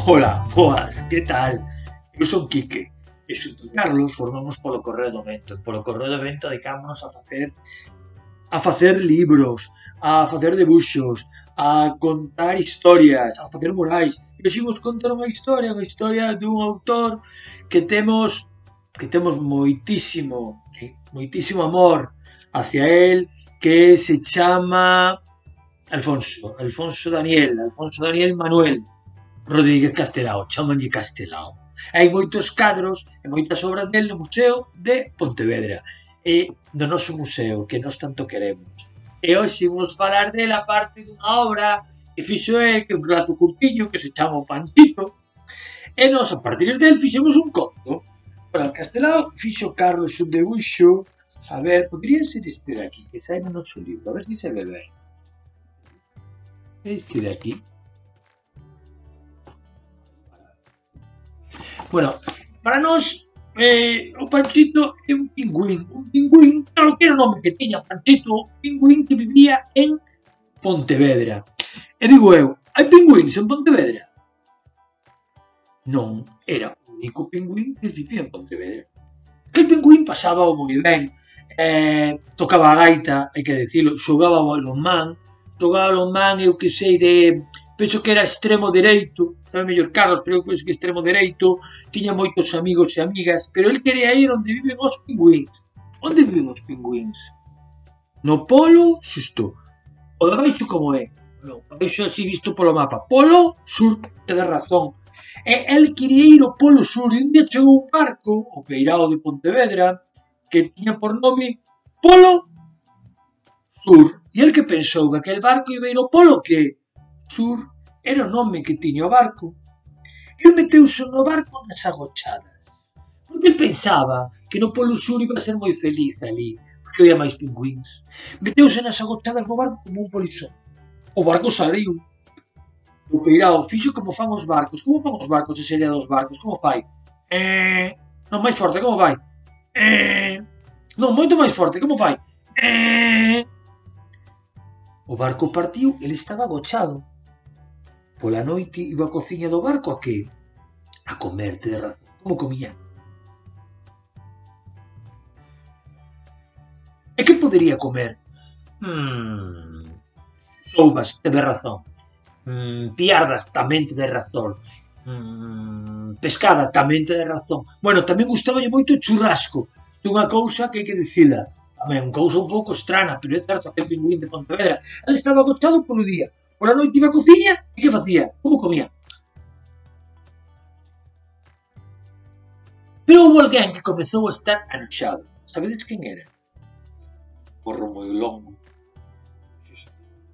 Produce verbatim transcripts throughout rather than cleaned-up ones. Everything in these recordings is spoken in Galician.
Ola, boas, que tal? Eu son Quique e xunto Carlos formamos polo Correo do Vento. Polo Correo do Vento dedicámonos a facer a facer libros, a facer debuxos, a contar historias, a facer murais. E hoxe vos contar unha historia, unha historia dun autor que temos que temos moitísimo, moitísimo amor hacia él, que se chama Alfonso, Alfonso Daniel, Alfonso Daniel Manuel Rodríguez Castelao, chamanlle Castelao. Hai moitos cadros e moitas obras del no Museo de Pontevedra e do noso museo que nós tanto queremos. E hoxe vamos falar dela parte dunha obra que fixo el, que é un relato curtiño que se chama O Panchito, e nós a partir del fixemos un conto. Para Castelao fixo Carlos un debuxo, a ver, podría ser este de aquí, que sai no noso libro, a ver se se ve ben. Este de aquí. Bueno, para nós, eh, o Panchito é un pingüín, un pingüín, claro que era o nome que tiña Panchito, un pingüín que vivía en Pontevedra. E digo eu, hai pingüíns en Pontevedra? Non, era o único pingüín que vivía en Pontevedra. Aquel pingüín pasaba moi ben, eh, tocaba a gaita, hai que dicilo, xogaba ao balonmán, xogaba ao balonmán, eu que sei de... penso que era extremo dereito, sabe mellor Carlos, pero eu penso que extremo dereito, tiña moitos amigos e amigas, pero el quería ir onde viven os pingüíns. Onde viven os pingüíns? No polo xusto. O de baixo como é? Non, baixo así visto polo mapa. Polo sur, tedes razón. E el quería ir ao polo sur e un día chegou un barco, o Peirao de Pontevedra, que tiña por nome Polo Sur. E el que pensou que aquel barco iba ir ao polo que? Sur, era o nome que tiña o barco. El meteuse no barco nas agochadas, porque el pensaba que no Polo Sur iba a ser moi feliz ali, porque había máis pingüíns. Meteuse nas agochadas do barco como un polizón. O barco saliu. O Peirao fixo como fan os barcos. Como fan os barcos de serie dos barcos? Como fai? Eh... Non, máis forte, como fai? Eh... Non, moito máis forte, como fai? Eh... O barco partiu, ele estaba agochado. Pola noite iba á cociña do barco a que? A comer, de razón. Como comía? E que podería comer? Mmm... Soubas, teve razón. Mmm... Piardas, tamén teve razón. Mmm... Pescada, tamén teve razón. Bueno, tamén gustaballe moito o churrasco. Dunha cousa que hai que dicila. Tamén, unha cousa un pouco estrana, pero é certo, aquel pingüín de Pontevedra. Ele estaba agochado polo día. Por a noite iba á cociña e que facía? Como comía? Pero houve alguén que comezou a estar anoxado. Sabedes quen era? O Romuilongo,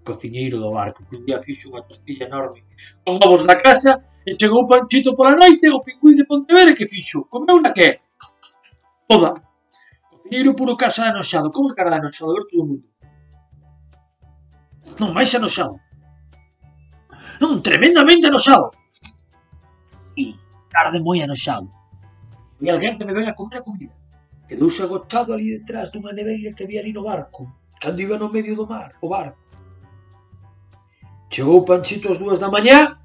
cociñeiro do barco, que un día fixo unha tostilla enorme con ovos da casa e chegou o Panchito pola noite, o pingüín de Pontevedra, que fixo? Comeu na que? Toda. Cociñeiro puro casa anoxado. Como é cara de anoxado? A ver todo o mundo. Non, máis anoxado. Non, tremendamente anoxado. E cara de moi anoxado. E alguén que me ven a comer a comida. Quedouse agochado ali detrás dunha neveira que había ali no barco, cando iba no medio do mar, o barco. Chegou Panchito ás dúas da mañá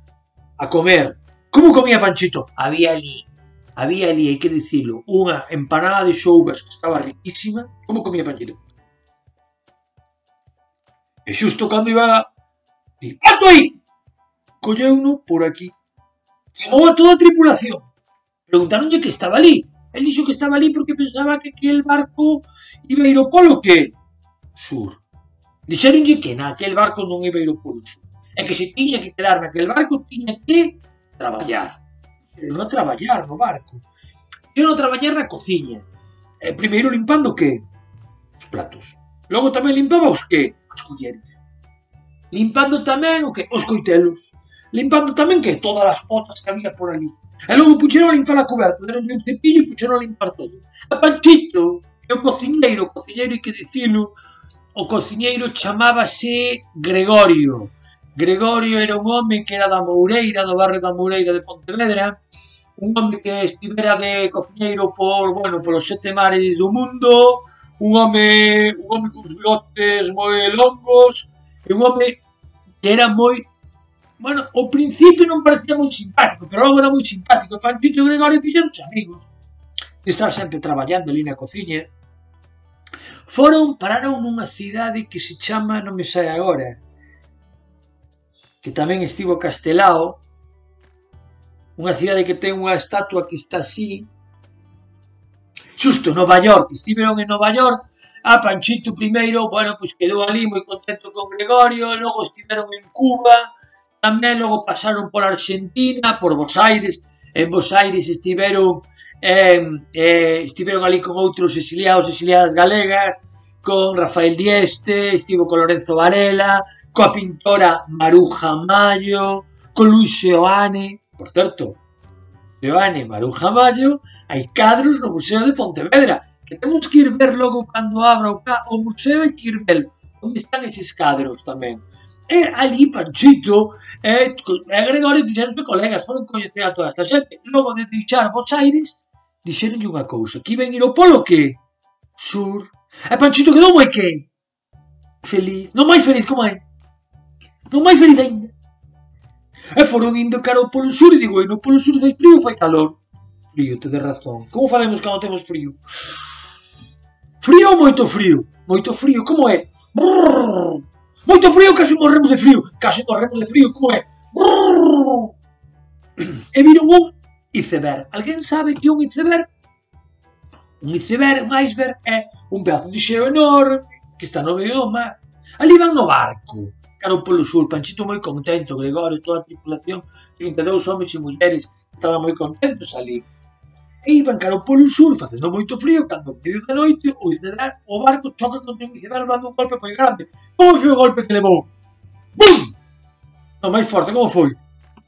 a comer. Como comía Panchito? Había ali, había ali, hai que dicilo, unha empanada de xoubas que estaba riquísima. Como comía Panchito? E xusto cando iba... Di, alto aí! Colleuno por aquí. Chamou a toda a tripulación. Preguntaronlle que estaba ali. El dixo que estaba ali porque pensaba que aquel barco iba a ir ao polo que? Sur. Dixeronlle que naquel barco non iba a ir ao polo sur. E que se tiña que quedar naquel barco tiña que traballar. Non a traballar no barco. Non a traballar na cociña. E primeiro limpando que? Os platos. Logo tamén limpaba os que? As culleres. Limpando tamén o que? Os coitelos. Limpando tamén que? Todas as potas que había por ali. E logo puxeron a limpar a coberta, deronlle un cepillo e puxeron a limpar todo. A Panchito é o cociñeiro, o cociñeiro hai que dicilo, o cociñeiro chamábase Gregorio. Gregorio era un home que era da Moureira, do barrio da Moureira de Pontevedra, un home que estivera de cociñeiro por, bueno, polos sete mares do mundo, un home, un home cos bigotes moi longos, e un home que era moi Bueno, ao principio non parecía moi simpático, pero logo era moi simpático. E Panchito e Gregorio fixeronse amigos. De estar sempre traballando ali na cociña. Foron, pararon nunha cidade que se chama, non me sai agora, que tamén estivo Castelao, unha cidade que ten unha estatua que está así, xusto, Nova York. Estiveron en Nova York. A Panchito primeiro, bueno, pois quedou ali moi contento con Gregorio, logo estiveron en Cuba, tamén logo pasaron pola Argentina, por Bos Aires, en Bos Aires estiveron eh, eh, estiveron ali con outros exiliados, exiliadas galegas, con Rafael Dieste, estivo con Lorenzo Varela, coa pintora Maruja Mayo, con Luis Seoane, por certo, Seoane e Maruja Mayo, hai cadros no Museo de Pontevedra, que temos que ir ver logo cando abra o, o museo, hai que ir ver onde están eses cadros tamén. E ali Panchito e, e Gregorio fixeronse colegas, foron coñecer a toda esta xente. Logo de deixar Bos Aires, dixeronlle unha cousa, que iban ir ao polo que? Sur. E Panchito quedou moi que? Feliz. Non máis feliz, como é? Non máis feliz ainda. E foron indo cara ao polo sur e digo, e no polo sur fai frío ou fai calor? Frío, te de razón. Como falemos cando temos frío? Frío ou moito frío? Moito frío, como é? Brrr. Moito frío, casi morremos de frío. Casi morremos de frío, como é? Brrr. E viron un iceberg. Alguén sabe que é un iceberg? Un iceberg, un iceberg, é un pedazo de xeo enorme que está no medio do mar. Ali van no barco, cara ao polo sur. Panchito moi contento, Gregorio, toda a tripulación, trinta e dous homens e mulleres, estaban moi contentos ali. E iban cara ao polo sur, facendo moito frío, cando ao medio da noite o iceberg, o barco choca contra un iceberg dando un golpe moi grande. Como foi o golpe que levou? Bum! Non máis forte, como foi?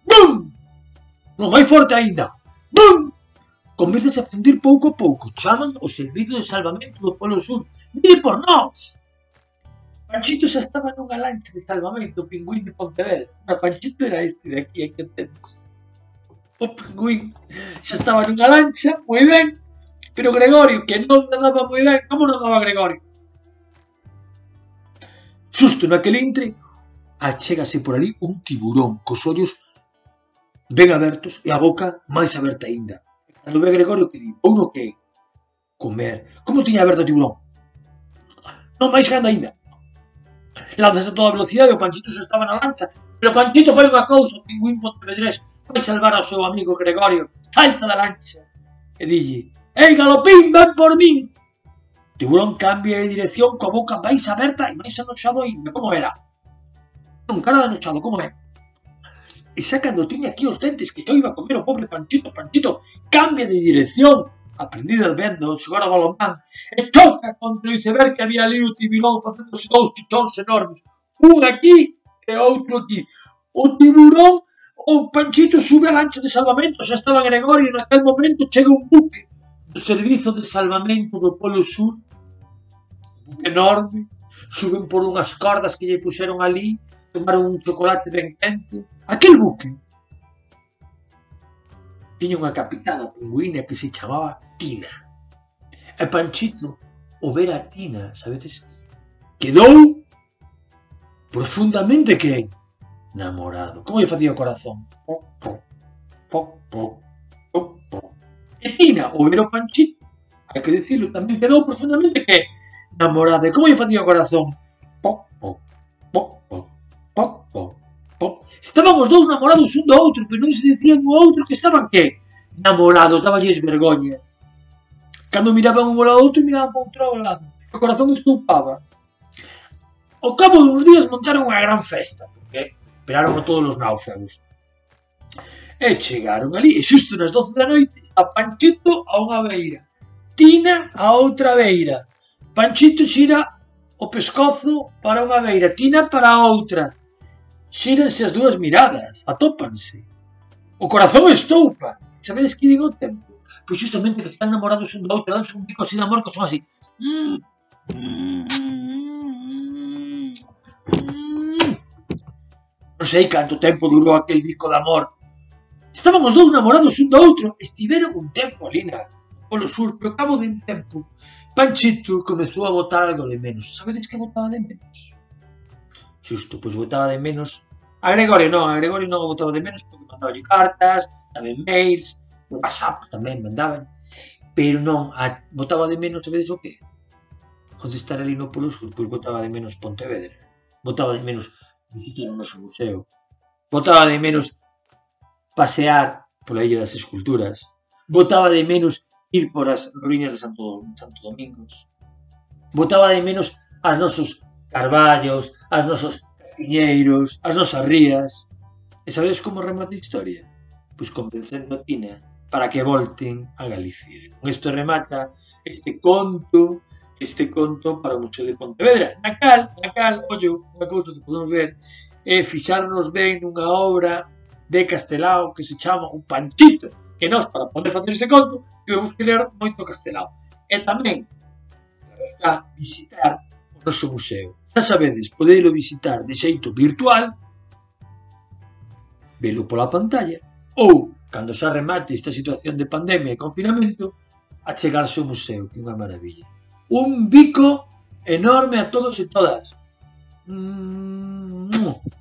Bum! Non máis forte aínda. Bum! Comezase a fundir pouco a pouco. Chaman o servizo de salvamento do polo sur. Vide por nós! Panchito xa estaba nunha lancha de salvamento, o Pingüín de Pontevedra. O Panchito era este de aquí, que entendes? O Pingüín xa estaba nunha lancha, moi ben, pero Gregorio, que non nadaba moi ben, como nadaba Gregorio? Xusto naquele intre, achégase por ali un tiburón cos ollos ben abertos e a boca máis aberta aínda. Cando ve Gregorio que di, ou no que? Comer. Como tiña aberto o tiburón? Non máis grande aínda. Lanzase a toda velocidade, o Panchito xa estaba na lancha, pero Panchito fai unha cousa, o Pingüín pontevedrés vai salvar ao seu amigo Gregorio, salta da lancha e dille, ei Galopín, ven por min! O tiburón cambia de dirección coa boca máis aberta e máis anoxado ainda, como era? Un cara de anoxado, como é? E xa cando tiña aquí os dentes que xo iba a comer o pobre Panchito, Panchito cambia de dirección, aprendida vendo xogar a balonmán, e choca contra o iceberg que había ali o tiburón facéndose dous chichóns enormes, un aquí e outro aquí. O tiburón, o Panchito sube a lancha de salvamento, xa estaba Gregorio e naquel momento chega un buque do servizo de salvamento do polo sur, un buque enorme, suben por unhas cordas que lle puxeron ali, tomaron un chocolate ben quente. Aquel buque tiña unha capitana pingüina que se chamaba Tina. E Panchito, ao ver a Tina, sabedes, quedou profundamente que namorado. Como lle facía o corazón? Poc, poc, poc, poc, poc, poc. E Tina, ao ver o Panchito, hai que dicilo, tamén quedou profundamente que namorada. E como lle facía o corazón? Poc, poc, poc, poc, poc, poc, poc. Estaban os dous namorados un do outro, pero non se dicían o outro que estaban que namorados, daballes vergoña. Cando miraban un ao outro, miraban para outro lado. O corazón estoupaba. Ao cabo duns días montaron unha gran festa, porque esperaron a todos os náufragos. E chegaron ali, e xusto nas doce da noite, está Panchito a unha beira, Tina a outra beira. Panchito xira o pescozo para unha beira, Tina para a outra. Xírense as dúas miradas, atópanse. O corazón estoupa. Sabedes que digo o tempo? Pois justamente que están namorados un do outro, danse un bico así de amor, que son así. Non sei canto tempo durou aquel bico de amor. Estaban os dous namorados un do outro, estiveron un tempo ali na polo sur, pero ao cabo de un tempo, Panchito comezou a botar algo de menos. Sabedes que botaba de menos? Xusto, pois botaba de menos A Gregorio non, a Gregorio non o botaba de menos porque mandaba cartas, tamén mails, WhatsApp tamén mandaban, pero non, a, botaba de menos a veces o que? Contestar ali no Polos, pois botaba de menos Pontevedra, botaba de menos visitar o noso museo, botaba de menos pasear pola Illa das Esculturas, botaba de menos ir por as ruínas de Santo, Santo Domingos, botaba de menos as nosos carballos, as nosos castiñeiros, as nosas rías. E sabedes como remata a historia? Pois convencendo a Tina para que volten a Galicia. Con isto remata este conto, este conto para o Museo de Pontevedra. Na cal, na cal, ollo, unha cousa que podemos ver é fixarnos ben nunha obra de Castelao que se chama O Panchito, que nós, para poder facer ese conto, temos que ler moito Castelao. E tamén, para visitar o noso museo. Xa sabedes, podelo visitar de xeito virtual, velo pola pantalla, ou, cando xa remate esta situación de pandemia e confinamento, achegarse ao museo, que é unha maravilla. Un bico enorme a todos e todas. Mm-hmm.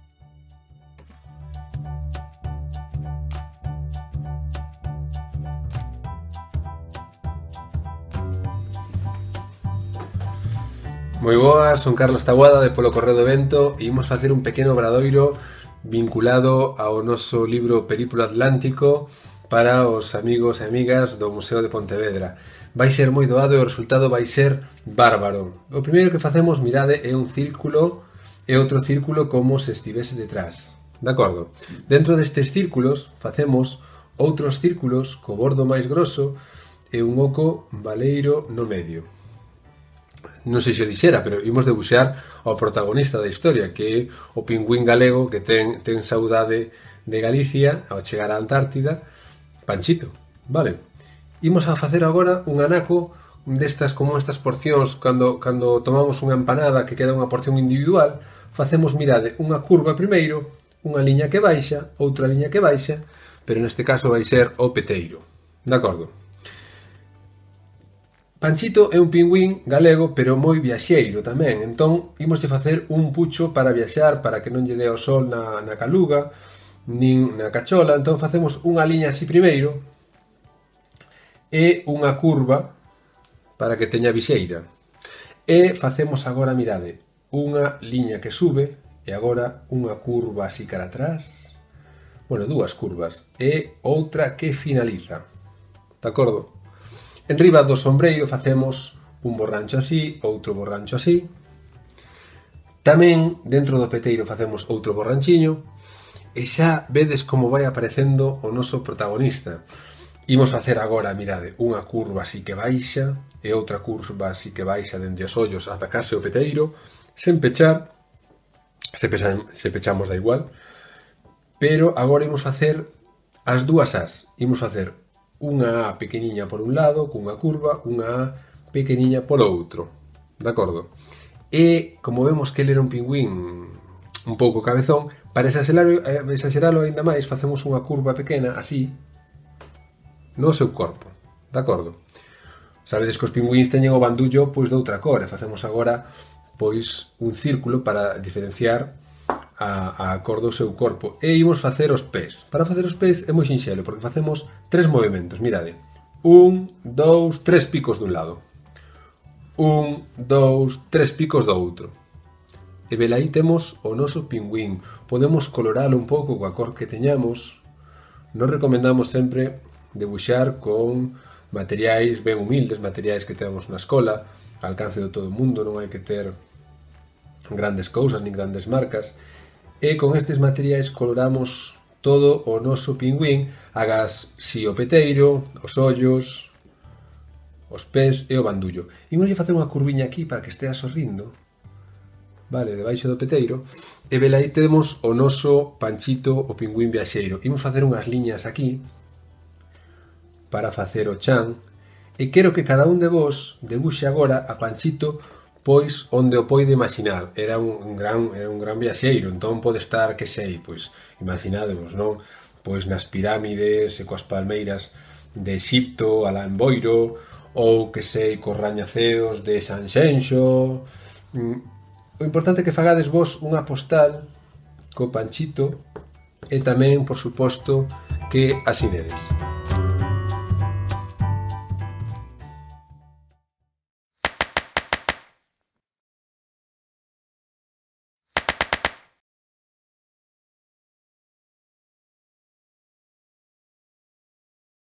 Moi boas, son Carlos Taboada de Polo Correo do Vento e imos facer un pequeno obradoiro vinculado ao noso libro Periplo Atlántico para os amigos e amigas do Museo de Pontevedra. Vai ser moi doado e o resultado vai ser bárbaro. O primeiro que facemos, mirade, é un círculo e outro círculo como se estivese detrás. De acordo? Dentro destes círculos facemos outros círculos co bordo máis grosso e un oco baleiro no medio. Non sei se o dixera, pero imos debuxar ao protagonista da historia, que é o pingüín galego que ten, ten saudade de Galicia ao chegar á Antártida, Panchito, vale? Imos a facer agora un anaco destas como estas porcións, cando, cando tomamos unha empanada que queda unha porción individual, facemos, mirade, unha curva primeiro, unha liña que baixa, outra liña que baixa, pero neste caso vai ser o peteiro, de acordo? Panchito é un pingüín galego, pero moi viaxeiro tamén, entón imos de facer un pucho para viaxar, para que non lle dé o sol na, na caluga, nin na cachola, entón facemos unha liña así primeiro, e unha curva para que teña vixeira. E facemos agora, mirade, unha liña que sube, e agora unha curva así cara atrás, bueno, dúas curvas, e outra que finaliza, de acordo? En riba do sombreiro facemos un borrancho así, outro borrancho así. Tamén dentro do peteiro facemos outro borranchiño. E xa vedes como vai aparecendo o noso protagonista. Imos facer agora, mirade, unha curva así que baixa e outra curva así que baixa dende os ollos ata case o peteiro, sen pechar, se, pechan, se pechamos da igual, pero agora imos facer as dúas as. Imos facer unha A pequeniña por un lado, cunha curva, unha A pequeniña polo outro, de acordo? E, como vemos que ele era un pingüín un pouco cabezón, para exageralo ainda máis, facemos unha curva pequena, así, no seu corpo, de acordo? Sabedes que os pingüíns teñen o bandullo pois de outra cor, e facemos agora pois un círculo para diferenciar a, a cor do seu corpo. E imos facer os pés. Para facer os pés é moi sinxelo, porque facemos tres movimentos, mirade. Un, dous, tres picos dun lado. Un, dous, tres picos do outro. E velaí temos o noso pingüín. Podemos coloralo un pouco coa cor que teñamos. Nos recomendamos sempre debuxar con materiais ben humildes, materiais que temos na escola, ao alcance de todo o mundo, non hai que ter grandes cousas, nin grandes marcas. E con estes materiais coloramos todo o noso pingüín, agas si o peteiro, os ollos, os pés e o bandullo. Imos facer unha curviña aquí para que estea sorrindo, vale, debaixo do peteiro, e velaí temos o noso Panchito, o pingüín viaxeiro. Imos facer unhas liñas aquí para facer o chan, e quero que cada un de vos debuxe agora a Panchito pois onde o poide imaginar. Era un gran, era un gran viaxeiro, entón pode estar, que sei, pois imaginadevos, non? Pois nas pirámides e coas palmeiras de Exipto, alá en Boiro, ou que sei, cos rañaceos de Sanxenxo. O importante é que fagades vos unha postal co Panchito e tamén, por suposto, que asinedes.